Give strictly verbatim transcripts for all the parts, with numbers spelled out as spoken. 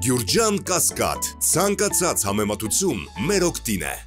Գյուրջան Կասկադ, ցանկացած համեմատություն մեր օգտին է։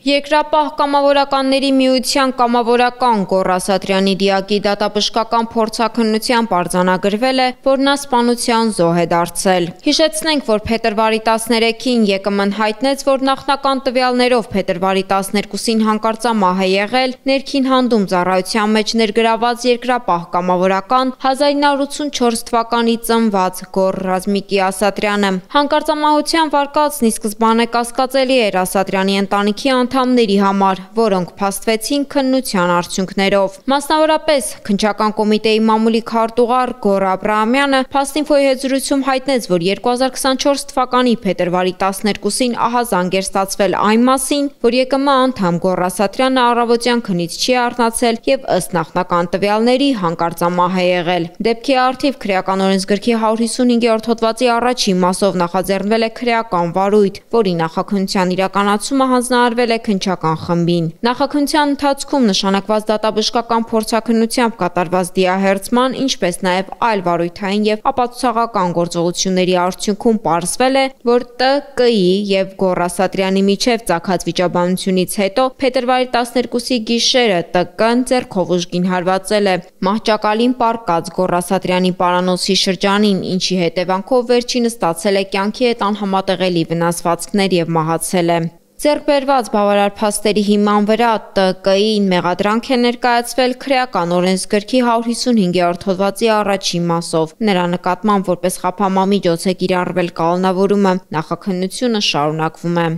Երկրապահ կամավորականների միության կամավորական Գոռ Ասատրյանի դիակի դատաբժշկական փորձաքննությամբ արձանագրվել է, որ նա սպանության զոհ է դարձել։ Հիշեցնենք, որ փետրվարի տասներեքին ԵԿՄ-ն հայտնեց, որ նախնական տվյալներով փետրվարի տասներկուսին հանկարծամահ է եղել ներքին հանդում ծառայության մեջ ներգրաված երկրապահ կամավորական հազար ինը հարյուր ութսունչորս թվականի ծնված Գոռ Ռազմիկի Ասատրյանը։ Հանկարծամահության վարկածն ի սկզբանե կասկածելի էր Ասատրյանի ընտանիքի անդամների համար, որոնք փաստվեցին քննության արդյունքներով։ Մասնավորապես, քննչական կոմիտեի մամուլի քարտուղար Գոռ Աբրահամյանը Փաստինֆոյի հետ զրույցում հայտնեց, որ երկու հազար քսանչորս թվականի փետրվարի տասներկուսին ահազանգ էր ստացվել այն մասին, որ ԵԿՄ անդամ Գոռ Ասատրյանը առավոտյան քնից չի արթնացել եւ ըստ նախնական տվյալների հանկարծամահ է եղել։ Դեպքի առթիվ քրեական օրենսգրքի հարյուր հիսունհինգերորդ հոդվածի առաջին մասով նախաձեռնվել է քրեական վարույթ, որի նախաքննության իրականացումը հանձնարարվել է քննչական խմբին։ Նախաքննության ընթացքում նշանակված դատաբժշկական փորձաքննությամբ կատարված դիահերձման, ինչպես նաև այլ վարույթային եւ ապացուցողական գործողությունների արդյունքում պարզվել է, որ ՏԿ-ի եւ Գոռ Ասատրյանի միջև ծագած վիճաբանությունից հետո փետրվարի տասներկուսի գիշերը ՏԿ-ն ձեռքով ուժգին հարվածել է մահճակալին պառկած Գոռ Ասատրյանի պարանոցի շրջանին, ինչի հետևանքով վերջինը ստացել է կյանքի հետ անհամատեղելի վնասվածքներ եւ մահացել է։ Ձեռք բերված բավարար փաստերի հիման վրա ՏԿ-ին մեղադրանք է ներկայացվել քրեական օրենսգրքի հարյուր հիսունհինգերորդ հոդվածի առաջին մասով։ Նրա նկատմամբ որպես խափամամիջոց է կիրառվել կանոնավորումը, նախաքննությունը շարունակվում է։